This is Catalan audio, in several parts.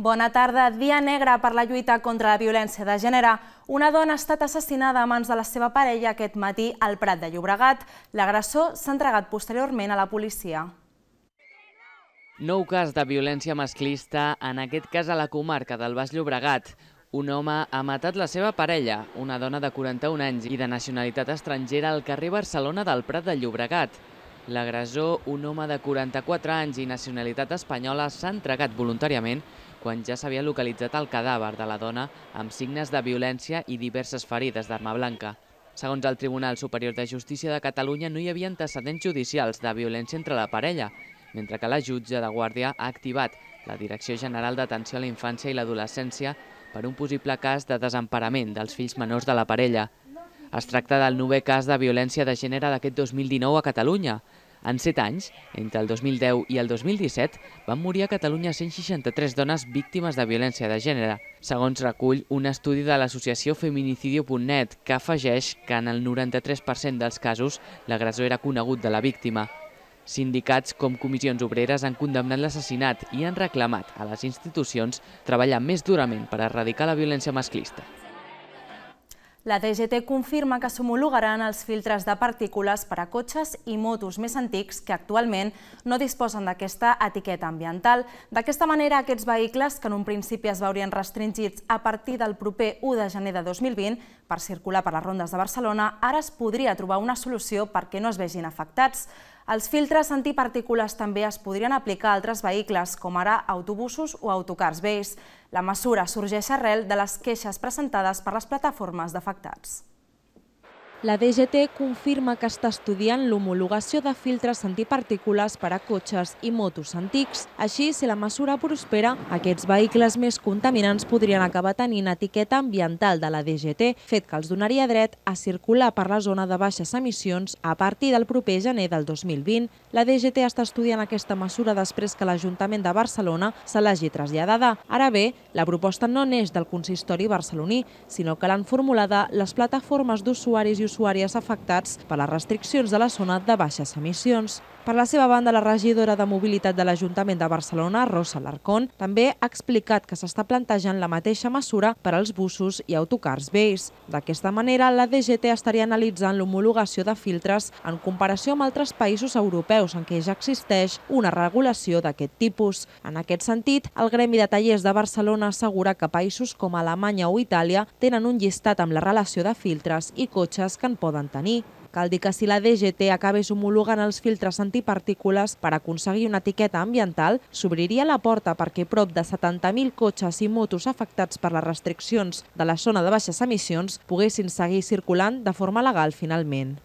Bona tarda. Dia negre per la lluita contra la violència de gènere. Una dona ha estat assassinada a mans de la seva parella aquest matí al Prat de Llobregat. L'agressor s'ha entregat posteriorment a la policia. Nou cas de violència masclista, en aquest cas a la comarca del Baix Llobregat. Un home ha matat la seva parella, una dona de 41 anys i de nacionalitat estrangera al carrer Barcelona del Prat de Llobregat. L'agressor, un home de 44 anys i nacionalitat espanyola, s'ha entregat voluntàriament quan ja s'havia localitzat el cadàver de la dona amb signes de violència i diverses ferides d'arma blanca. Segons el Tribunal Superior de Justícia de Catalunya, no hi havia antecedents judicials de violència entre la parella, mentre que la jutge de guàrdia ha activat la Direcció General d'Atenció a la Infància i l'Adolescència per un possible cas de desemparament dels fills menors de la parella. Es tracta del 9è cas de violència de gènere d'aquest 2019 a Catalunya. En 7 anys, entre el 2010 i el 2017, van morir a Catalunya 163 dones víctimes de violència de gènere, segons recull un estudi de l'associació Feminicidio.net, que afegeix que en el 93% dels casos l'agressor era conegut de la víctima. Sindicats com Comissions Obreres han condemnat l'assassinat i han reclamat a les institucions treballar més durament per erradicar la violència masclista. La DGT confirma que s'homologaran els filtres de partícules per a cotxes i motos més antics que actualment no disposen d'aquesta etiqueta ambiental. D'aquesta manera, aquests vehicles, que en un principi es veurien restringits a partir del proper 1 de gener de 2020 per circular per les rondes de Barcelona, ara es podria trobar una solució perquè no es vegin afectats. Els filtres antipartícules també es podrien aplicar a altres vehicles, com ara autobusos o autocars vells. La mesura sorgeix arrel de les queixes presentades per les plataformes d'afectats. La DGT confirma que està estudiant l'homologació de filtres antipartícules per a cotxes i motos antics. Així, si la mesura prospera, aquests vehicles més contaminants podrien acabar tenint etiqueta ambiental de la DGT, fet que els donaria dret a circular per la zona de baixes emissions a partir del proper gener del 2020. La DGT està estudiant aquesta mesura després que l'Ajuntament de Barcelona se l'hagi traslladada. Ara bé, la proposta no neix del consistori barceloní, sinó que l'han formulada les plataformes d'usuaris i usuàries afectats per les restriccions de la zona de baixes emissions. Per la seva banda, la regidora de Mobilitat de l'Ajuntament de Barcelona, Rosa Alarcón, també ha explicat que s'està plantejant la mateixa mesura per als busos i autocars vells. D'aquesta manera, la DGT estaria analitzant l'homologació de filtres en comparació amb altres països europeus en què ja existeix una regulació d'aquest tipus. En aquest sentit, el Gremi de Tallers de Barcelona assegura que països com Alemanya o Itàlia tenen un llistat amb la relació de filtres i cotxes que en poden tenir. Cal dir que si la DGT acabés homologant els filtres antipartícules per aconseguir una etiqueta ambiental, s'obriria la porta perquè prop de 70.000 cotxes i motos afectats per les restriccions de la zona de baixes emissions poguessin seguir circulant de forma legal finalment.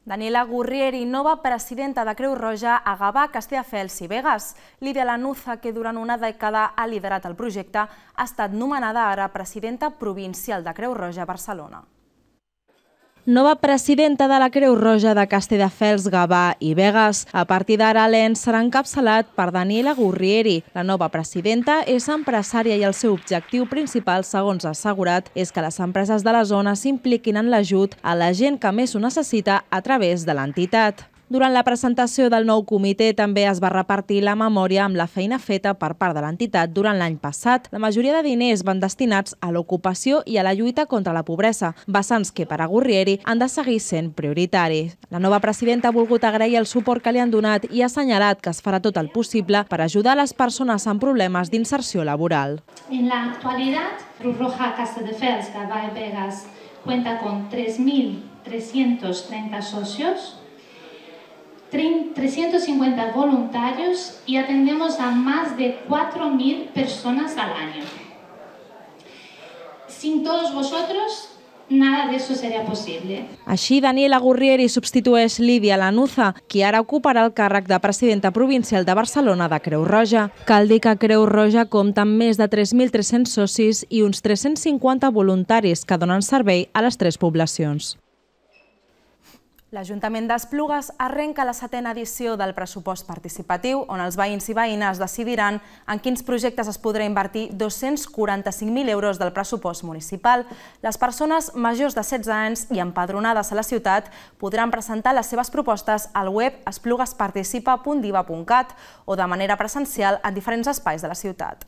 Daniela Gurrieri, nova presidenta de Creu Roja a Gavà, Castelldefels i Begues. Lídia Lanuza, que durant una dècada ha liderat el projecte, ha estat nomenada ara presidenta provincial de Creu Roja a Barcelona. Nova presidenta de la Creu Roja de Castelldefels, Gavà i Begues. A partir d'ara, l'ENS serà encapçalat per Daniela Gurrieri. La nova presidenta és empresària i el seu objectiu principal, segons ha assegurat, és que les empreses de la zona s'impliquin en l'ajut a la gent que més ho necessita a través de l'entitat. Durant la presentació del nou comitè també es va repartir la memòria amb la feina feta per part de l'entitat durant l'any passat. La majoria de diners van destinats a l'ocupació i a la lluita contra la pobresa, vessants que per a Gurrieri han de seguir sent prioritaris. La nova presidenta ha volgut agrair el suport que li han donat i ha assenyalat que es farà tot el possible per ajudar a les persones amb problemes d'inserció laboral. En la actualidad, Cruz Roja Castelldefels, Gavà y Begues cuenta con 3.330 socios, 350 voluntarios y atendemos a más de 4.000 personas al año. Sin todos vosotros, nada de eso sería posible. Així, Daniela Gurrieri substitueix Lídia Lanuza, qui ara ocuparà el càrrec de presidenta provincial de Barcelona de Creu Roja. Cal dir que Creu Roja compta amb més de 3.300 socis i uns 350 voluntaris que donen servei a les 3 poblacions. L'Ajuntament d'Esplugues arrenca la 7a edició del pressupost participatiu, on els veïns i veïnes decidiran en quins projectes es podrà invertir 245.000 euros del pressupost municipal. Les persones majors de 16 anys i empadronades a la ciutat podran presentar les seves propostes al web espluguesparticipa.diva.cat o de manera presencial en diferents espais de la ciutat.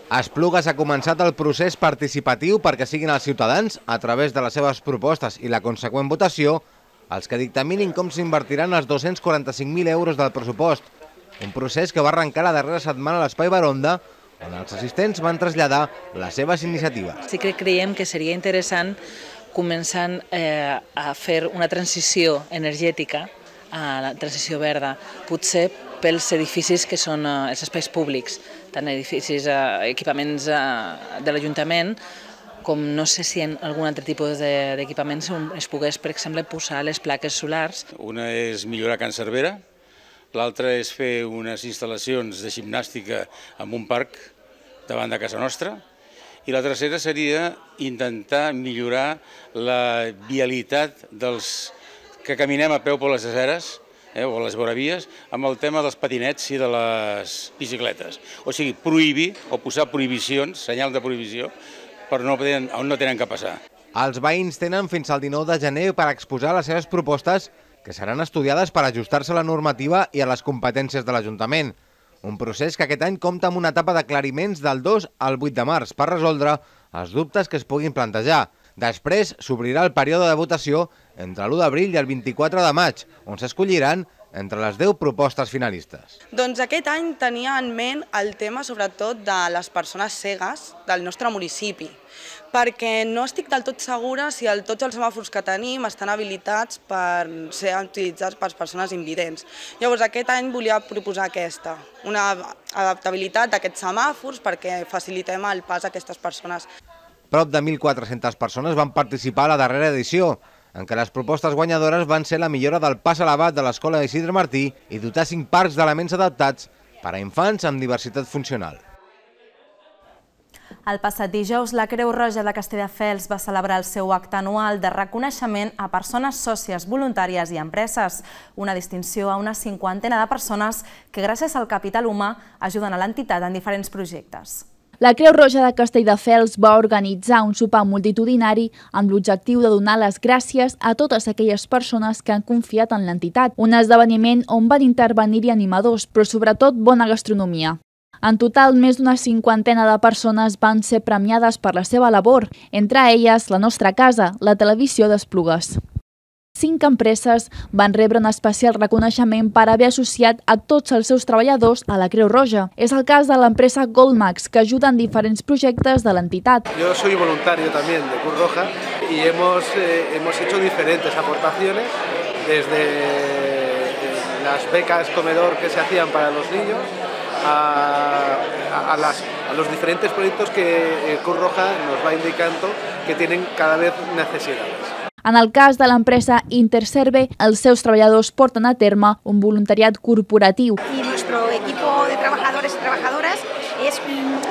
A Esplugues ha començat el procés participatiu perquè siguin els ciutadans, a través de les seves propostes i la conseqüent votació, els que dictaminin com s'invertiran els 245.000 euros del pressupost. Un procés que va arrencar la darrera setmana a l'Espai Baronda, on els assistents van traslladar les seves iniciatives. Sí que creiem que seria interessant començar a fer una transició energètica, a la transició verda, potser pels edificis que són els espais públics, tant edificis, equipaments de l'Ajuntament, com no sé si en algun altre tipus d'equipaments es pogués, per exemple, posar les plaques solars. Una és millorar Can Cervera, l'altra és fer unes instal·lacions de gimnàstica en un parc davant de casa nostra, i la tercera seria intentar millorar la vialitat dels que caminem a peu per les aceres, o les voravies, amb el tema dels patinets i de les bicicletes. O sigui, prohibir o posar prohibicions, senyal de prohibició, per on no tenen que passar. Els veïns tenen fins al 19 de gener per exposar les seves propostes, que seran estudiades per ajustar-se a la normativa i a les competències de l'Ajuntament. Un procés que aquest any compta amb una etapa d'aclariments del 2 al 8 de març per resoldre els dubtes que es puguin plantejar. Després s'obrirà el període de votació entre l'1 d'abril i el 24 de maig, on s'escolliran entre les 10 propostes finalistes. Doncs aquest any tenia en ment el tema sobretot de les persones cegues del nostre municipi, perquè no estic del tot segura si tots els semàfors que tenim estan habilitats per ser utilitzats per persones invidents. Llavors aquest any volia proposar aquesta, una adaptabilitat d'aquests semàfors perquè facilitem el pas a aquestes persones. Prop de 1.400 persones van participar a la darrera edició, en què les propostes guanyadores van ser la millora del pas elevat de l'Escola d'Isidre Martí i dotar 5 parcs d'elements adaptats per a infants amb diversitat funcional. El passat dijous, la Creu Roja de Castelldefels va celebrar el seu acte anual de reconeixement a persones sòcies, voluntàries i empreses, una distinció a una 50ena de persones que gràcies al capital humà ajuden a l'entitat en diferents projectes. La Creu Roja de Castelldefels va organitzar un sopar multitudinari amb l'objectiu de donar les gràcies a totes aquelles persones que han confiat en l'entitat. Un esdeveniment on van intervenir-hi animadors, però sobretot bona gastronomia. En total, més d'una 50ena de persones van ser premiades per la seva labor, entre elles la nostra casa, la televisió d'Esplugues. 5 empreses van rebre un especial reconeixement per haver associat a tots els seus treballadors a la Creu Roja. És el cas de l'empresa Goldmax, que ajuda en diferents projectes de l'entitat. Yo soy voluntario también de Cruz Roja y hemos hecho diferentes aportaciones, desde las becas comedor que se hacían para los niños a los diferentes proyectos que Cruz Roja nos va indicando que tienen cada vez necesidades. En el cas de l'empresa Interserve, els seus treballadors porten a terme un voluntariat corporatiu. Y nuestro equipo de trabajadores y trabajadoras es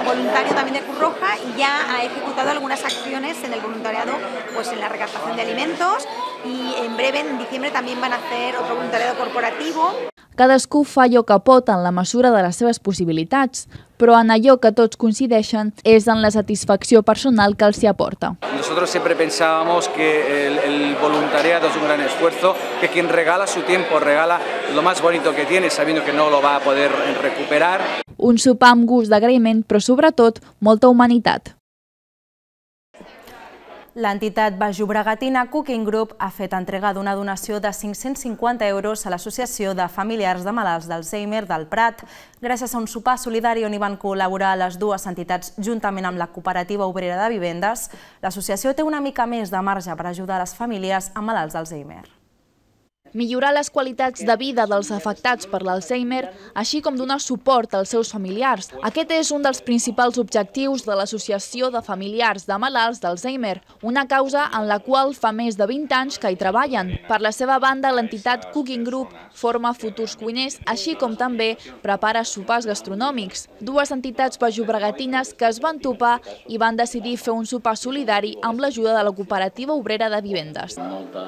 voluntario también de Cruz Roja y ya ha ejecutado algunas acciones en el voluntariado, pues en la recaptación de alimentos, y en breve, en diciembre, también van a hacer otro voluntariado corporativo. Cadascú fa allò que pot en la mesura de les seves possibilitats, però en allò que tots coincideixen és en la satisfacció personal que els hi aporta. Nosotros siempre pensábamos que el voluntariado es un gran esfuerzo, que quien regala su tiempo regala lo más bonito que tiene, sabiendo que no lo va a poder recuperar. Un sopar amb gust d'agraïment, però sobretot molta humanitat. L'entitat Baix Llobregatina Cooking Group ha fet entrega d'una donació de 550 euros a l'Associació de Familiars de Malalts d'Alzheimer del Prat. Gràcies a un sopar solidari on hi van col·laborar les dues entitats juntament amb la Cooperativa Obrera de Vivendes, l'associació té una mica més de marge per ajudar les famílies amb malalts d'Alzheimer. Millorar les qualitats de vida dels afectats per l'Alzheimer, així com donar suport als seus familiars. Aquest és un dels principals objectius de l'Associació de Familiars de Malalts d'Alzheimer, una causa en la qual fa més de 20 anys que hi treballen. Per la seva banda, l'entitat Cooking Group forma futurs cuiners, així com també prepara sopars gastronòmics. Dues entitats baix-llobregatines que es van topar i van decidir fer un sopar solidari amb l'ajuda de la Cooperativa Obrera de Vivendes. Molta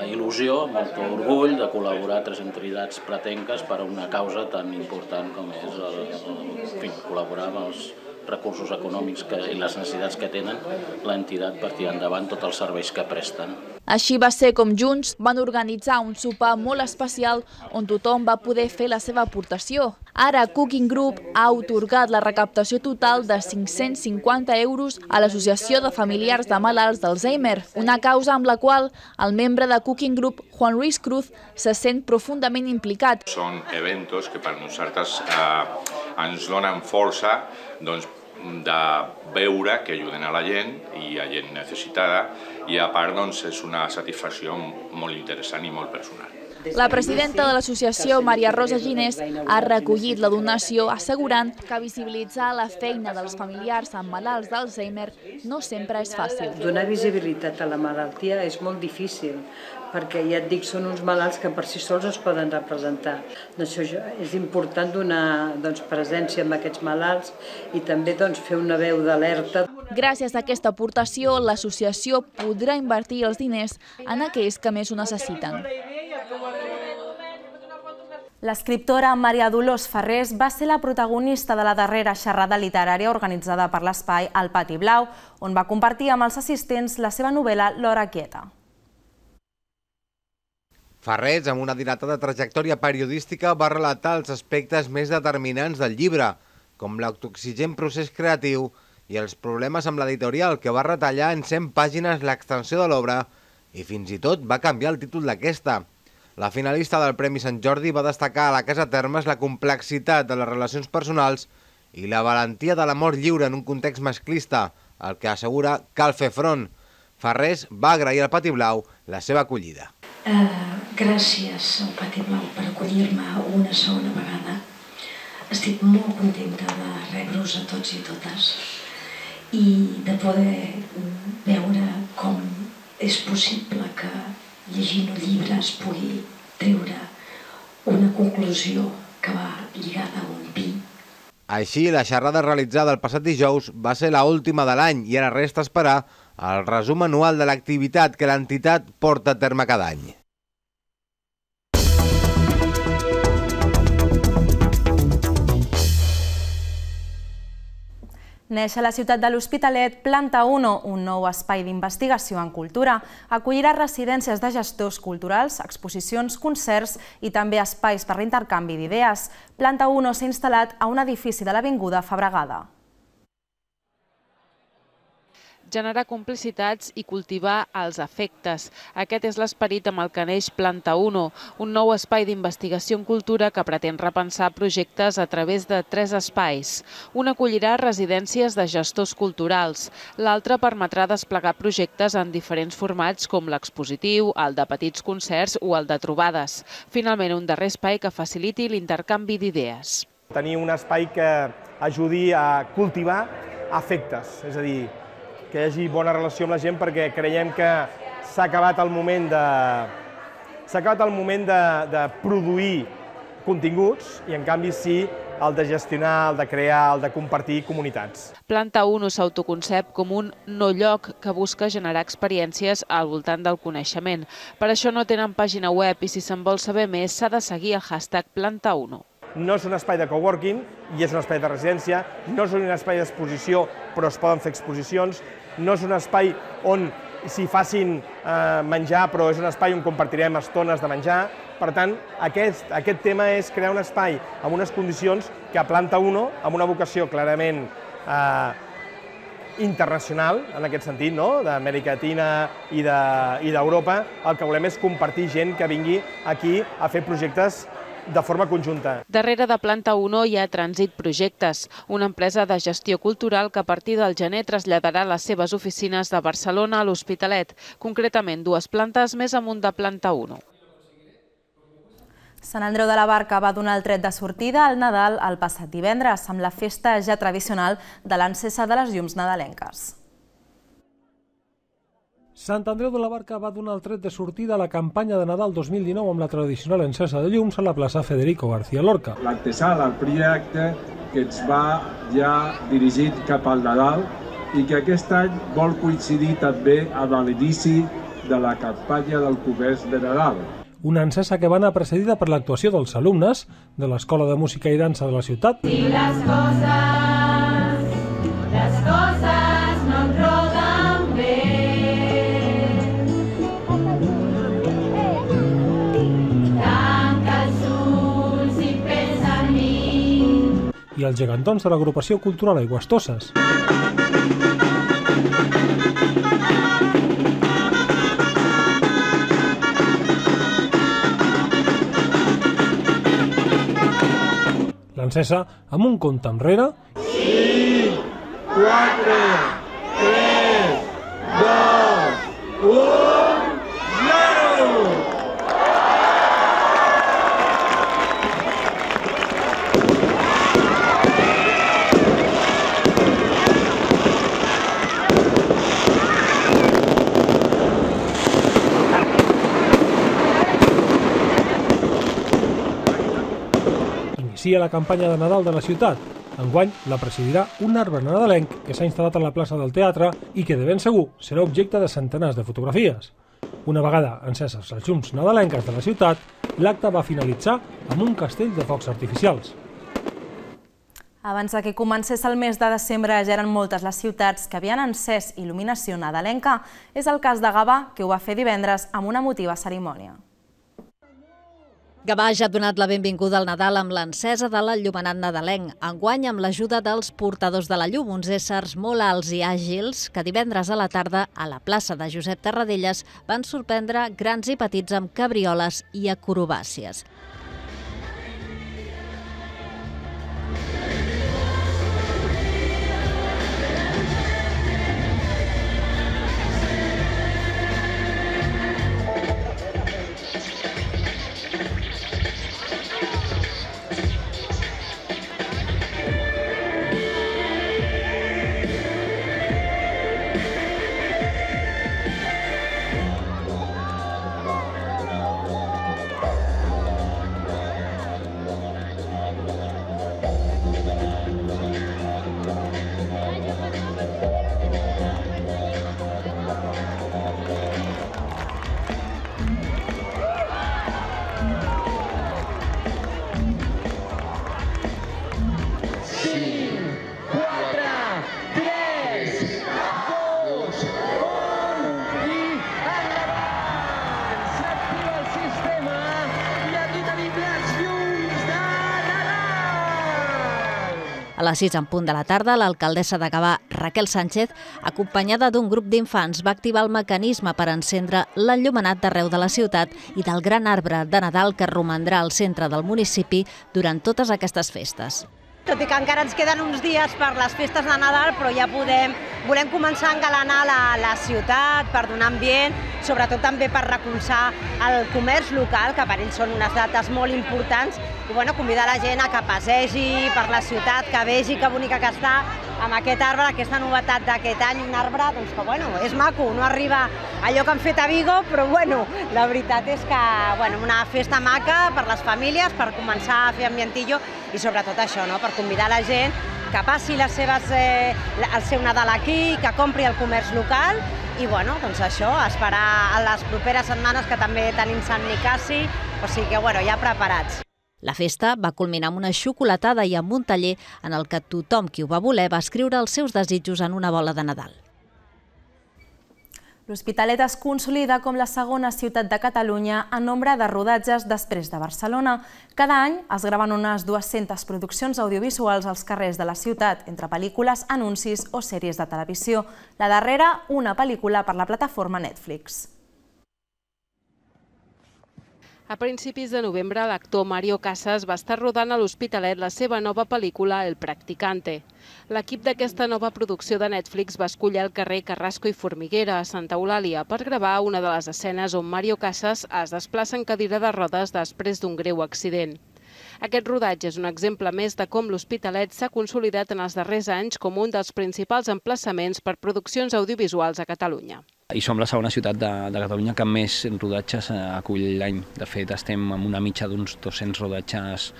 il·lusió, molt orgull de col·laborar 3 entitats pratenques per a una causa tan important com és col·laborar amb els recursos econòmics i les necessitats que tenen l'entitat per tirar endavant tots els serveis que presten. Així va ser com junts van organitzar un sopar molt especial on tothom va poder fer la seva aportació. Ara, Cooking Group ha atorgat la recaptació total de 550 euros a l'Associació de Familiars de Malalts d'Alzheimer, una causa amb la qual el membre de Cooking Group, Juan Luis Cruz, se sent profundament implicat. Són eventos que per nosaltres ens donen força de veure que ajuden a la gent i a gent necessitada i a part és una satisfacció molt interessant i molt personal. La presidenta de l'associació, Maria Rosa Ginés, ha recollit la donació assegurant que visibilitzar la feina dels familiars amb malalts d'Alzheimer no sempre és fàcil. Donar visibilitat a la malaltia és molt difícil, perquè ja et dic, són uns malalts que per si sols es poden representar. És important donar presència amb aquests malalts i també fer una veu d'alerta. Gràcies a aquesta aportació, l'associació podrà invertir els diners en aquells que més ho necessiten. L'escriptora Maria Dolors Farrés va ser la protagonista de la darrera xerrada literària organitzada per l'Espai al Pati Blau, on va compartir amb els assistents la seva novel·la L'hora quieta. Farrés, amb una dilatada trajectòria periodística, va relatar els aspectes més determinants del llibre, com l'autoexigent procés creatiu i els problemes amb l'editorial, que va retallar en 100 pàgines l'extensió de l'obra i fins i tot va canviar el títol d'aquesta. La finalista del Premi Sant Jordi va destacar a la Casa Termes la complexitat de les relacions personals i la valentia de l'amor lliure en un context masclista, al que assegura cal fer front. Farrés va agrair al Pati Blau la seva acollida. Gràcies al Pati Blau per acollir-me una segona vegada. Estic molt contenta de rebre-us a tots i totes i de poder veure com és possible que llegint un llibre es pugui treure una conclusió que va lligada a un pi. Així, la xerrada realitzada el passat dijous va ser l'última de l'any i ara resta esperar el resum anual de l'activitat que l'entitat porta a terme cada any. Neix a la ciutat de l'Hospitalet Planta 1, un nou espai d'investigació en cultura. Acollirà residències de gestors culturals, exposicions, concerts i també espais per l'intercanvi d'idees. Planta 1 s'ha instal·lat a un edifici de l'Avinguda Fabregada. Generar complicitats i cultivar els afectes. Aquest és l'esperit amb el que neix Planta 1, un nou espai d'investigació en cultura que pretén repensar projectes a través de 3 espais. Un acollirà residències de gestors culturals, l'altre permetrà desplegar projectes en diferents formats com l'expositiu, el de petits concerts o el de trobades. Finalment, un darrer espai que faciliti l'intercanvi d'idees. Tenir un espai que ajudi a cultivar afectes, és a dir, que hi hagi bona relació amb la gent, perquè creiem que s'ha acabat el moment de produir continguts i en canvi sí el de gestionar, el de crear, el de compartir comunitats. Planta 1 s'autoconcep com un no lloc que busca generar experiències al voltant del coneixement. Per això no tenen pàgina web i si se'n vol saber més s'ha de seguir el hashtag Planta 1. No és un espai de coworking i és un espai de residència, no és un espai d'exposició però es poden fer exposicions, no és un espai on s'hi facin menjar però és un espai on compartirem estones de menjar. Per tant, aquest tema és crear un espai amb unes condicions que a Planta 1, amb una vocació clarament internacional, en aquest sentit, d'Amèrica Llatina i d'Europa, el que volem és compartir gent que vingui aquí a fer projectes de forma conjunta. Darrere de Planta 1 hi ha Trànsit Projectes, una empresa de gestió cultural que a partir del gener traslladarà les seves oficines de Barcelona a l'Hospitalet, concretament 2 plantes més amunt de Planta 1. Sant Andreu de la Barca va donar el tret de sortida al Nadal el passat divendres, amb la festa ja tradicional de l'encesa de les llums nadalenques. Sant Andreu de la Barca va donar el tret de sortida a la campanya de Nadal 2019 amb la tradicional encesa de llums a la plaça Federico García Lorca. L'antesala, el projecte que ens va ja dirigit cap al Nadal i que aquest any vol coincidir també amb l'inici de la campanya del comerç de Nadal. Una encesa que va anar precedida per l'actuació dels alumnes de l'Escola de Música i Dansa de la ciutat. Si les coses no et roden bé, i els gegantons de l'agrupació cultural Aigües-Tosses. L'encesa, amb un compte enrere... 5, 4, 3, 2, 1, 0! Inicia la campanya de Nadal de la ciutat. Enguany la presidirà un arbre nadalenc que s'ha instal·lat a la plaça del Teatre i que de ben segur serà objecte de centenars de fotografies. Una vegada enceses les llums nadalenques de la ciutat, l'acte va finalitzar amb un castell de focs artificials. Abans que comencés el mes de desembre ja eren moltes les ciutats que havien encès il·luminació nadalenca. És el cas de Gavà, que ho va fer divendres amb una emotiva cerimònia. Gavà ja ha donat la benvinguda al Nadal amb l'encesa de l'enllumenat nadalenc, enguany amb l'ajuda dels portadors de la llum, uns éssers molt alts i àgils que divendres a la tarda a la plaça de Josep Tarradellas van sorprendre grans i petits amb cabrioles i acrobàcies. A les 6 en punt de la tarda, l'alcaldessa de Gavà, Raquel Sánchez, acompanyada d'un grup d'infants, va activar el mecanisme per encendre l'enllumenat d'arreu de la ciutat i del gran arbre de Nadal que romandrà al centre del municipi durant totes aquestes festes. Tot i que encara ens queden uns dies per les festes de Nadal, però ja volem començar a engalanar la ciutat per donar ambient, sobretot també per recolzar el comerç local, que per ells són unes dates molt importants, i convidar la gent a que passegi per la ciutat, que vegi que bonica que està amb aquest arbre, aquesta novetat d'aquest any, un arbre que és maco, no arriba allò que han fet a Vigo, però la veritat és que una festa maca per les famílies, per començar a fer ambientillo i sobretot això, per convidar la gent que passi el seu Nadal aquí, que compri el comerç local i això, esperar a les properes setmanes que també tenim Sant Nicasi, o sigui que ja preparats. La festa va culminar amb una xocolatada i amb un taller en el que tothom qui ho va voler va escriure els seus desitjos en una bola de Nadal. L'Hospitalet es consolida com la segona ciutat de Catalunya en nombre de rodatges després de Barcelona. Cada any es graven unes 200 produccions audiovisuals als carrers de la ciutat, entre pel·lícules, anuncis o sèries de televisió. La darrera, una pel·lícula per la plataforma Netflix. A principis de novembre, l'actor Mario Casas va estar rodant a l'Hospitalet la seva nova pel·lícula El Practicante. L'equip d'aquesta nova producció de Netflix va escollir el carrer Carrasco i Formiguera, a Santa Eulàlia, per gravar una de les escenes on Mario Casas es desplaça en cadira de rodes després d'un greu accident. Aquest rodatge és un exemple més de com l'Hospitalet s'ha consolidat en els darrers anys com un dels principals emplaçaments per produccions audiovisuals a Catalunya. I som la segona ciutat de Catalunya que més rodatges acull l'any. De fet, estem amb una mitja d'uns 200 rodatges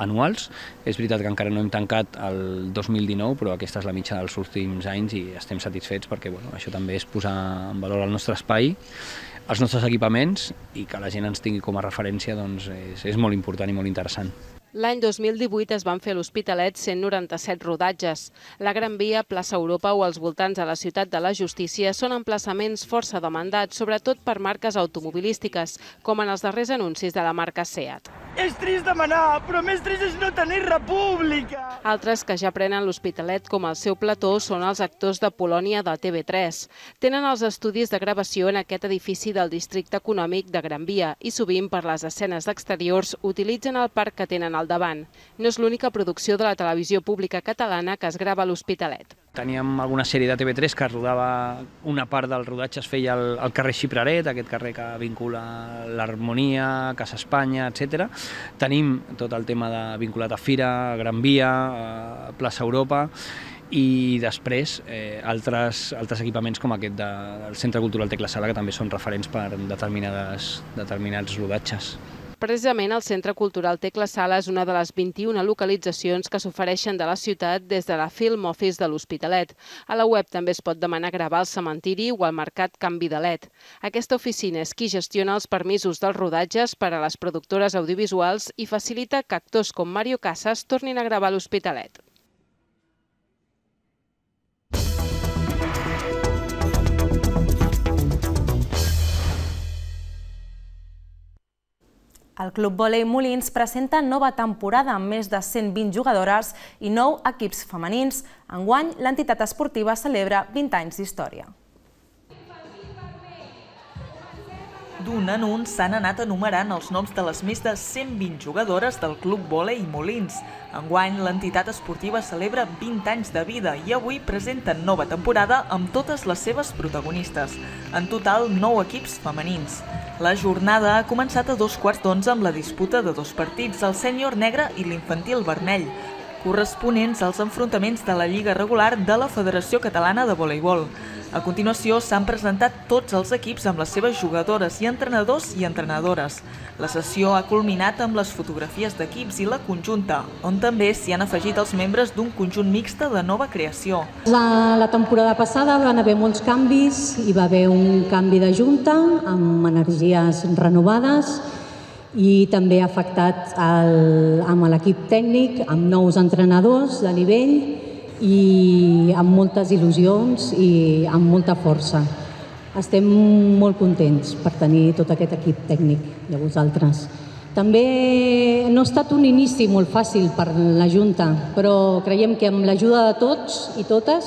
anuals. És veritat que encara no hem tancat el 2019, però aquesta és la mitja dels últims anys i estem satisfets perquè això també és posar en valor el nostre espai, els nostres equipaments i que la gent ens tingui com a referència és molt important i molt interessant. L'any 2018 es van fer a l'Hospitalet 197 rodatges. La Gran Via, plaça Europa o els voltants de la Ciutat de la Justícia són emplaçaments força demandats, sobretot per marques automobilístiques, com en els darrers anuncis de la marca Seat. És trist demanar, però més trist és no tenir república! Altres que ja prenen l'Hospitalet com el seu plató són els actors de Polònia de TV3. Tenen els estudis de gravació en aquest edifici del districte econòmic de Gran Via i sovint per les escenes d'exteriors utilitzen el parc que tenen al davant. No és l'única producció de la televisió pública catalana que es grava a l'Hospitalet. Teníem alguna sèrie de TV3 que rodava, una part del rodatge es feia al carrer Xipraret, aquest carrer que vincula l'Harmonia, Casa Espanya, etc. Tenim tot el tema vinculat a Fira, Gran Via, plaça Europa, i després altres equipaments com aquest del Centre Cultural Tecla Sala, que també són referents per determinats rodatges. Precisament el Centre Cultural Tecla Sala és una de les 21 localitzacions que s'ofereixen de la ciutat des de la Film Office de l'Hospitalet. A la web també es pot demanar gravar al cementiri o al mercat Can Vidalet. Aquesta oficina és qui gestiona els permisos dels rodatges per a les productores audiovisuals i facilita que actors com Mario Casas tornin a gravar a l'Hospitalet. El Club Vòlei Molins presenta nova temporada amb més de 120 jugadores i 9 equips femenins. Enguany, l'entitat esportiva celebra 20 anys d'història. D'un en un s'han anat enumerant els noms de les més de 120 jugadores del Club Vòlei Molins. Enguany, l'entitat esportiva celebra 20 anys de vida i avui presenta nova temporada amb totes les seves protagonistes. En total, 9 equips femenins. La jornada ha començat a 11:15 amb la disputa de 2 partits, el sènior negre i l'infantil vermell, corresponents als enfrontaments de la Lliga regular de la Federació Catalana de Voleibol. A continuació s'han presentat tots els equips amb les seves jugadores i entrenadors i entrenadores. La sessió ha culminat amb les fotografies d'equips i la conjunta, on també s'hi han afegit els membres d'un conjunt mixte de nova creació. La temporada passada van haver molts canvis, hi va haver un canvi de junta amb energies renovades i també ha afectat amb l'equip tècnic, amb nous entrenadors de nivell i amb moltes il·lusions i amb molta força. Estem molt contents per tenir tot aquest equip tècnic de vosaltres. També no ha estat un inici molt fàcil per la Junta, però creiem que amb l'ajuda de tots i totes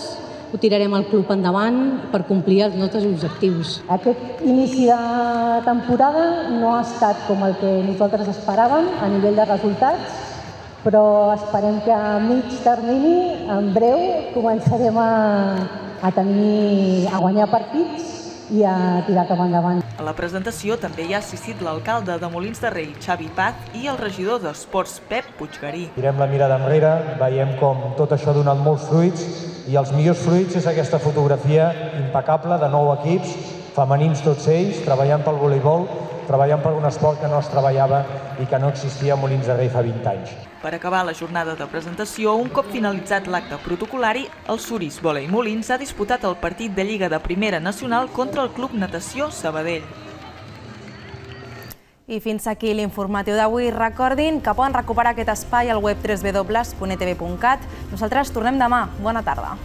ho tirarem el club endavant per complir els nostres objectius. Aquest inici de temporada no ha estat com el que nosaltres esperàvem a nivell de resultats, però esperem que a mig termini, en breu, començarem a guanyar partits i a tirar cap endavant. A la presentació també hi ha assistit l'alcalde de Molins de Rei, Xavi Paz, i el regidor d'Esports, Pep Puiggarí. Tirem la mirada enrere, veiem com tot això ha donat molts fruits i els millors fruits és aquesta fotografia impecable de 9 equips, femenins tots ells, treballant pel voleibol, treballant per un esport que no es treballava i que no existia a Molins de Rei fa 20 anys. Per acabar la jornada de presentació, un cop finalitzat l'acte protocolari, el Suris Vòlei Molins ha disputat el partit de Lliga de Primera Nacional contra el Club Natació Sabadell. I fins aquí l'informatiu d'avui. Recordin que poden recuperar aquest espai al web www.etv.cat. Nosaltres tornem demà. Bona tarda.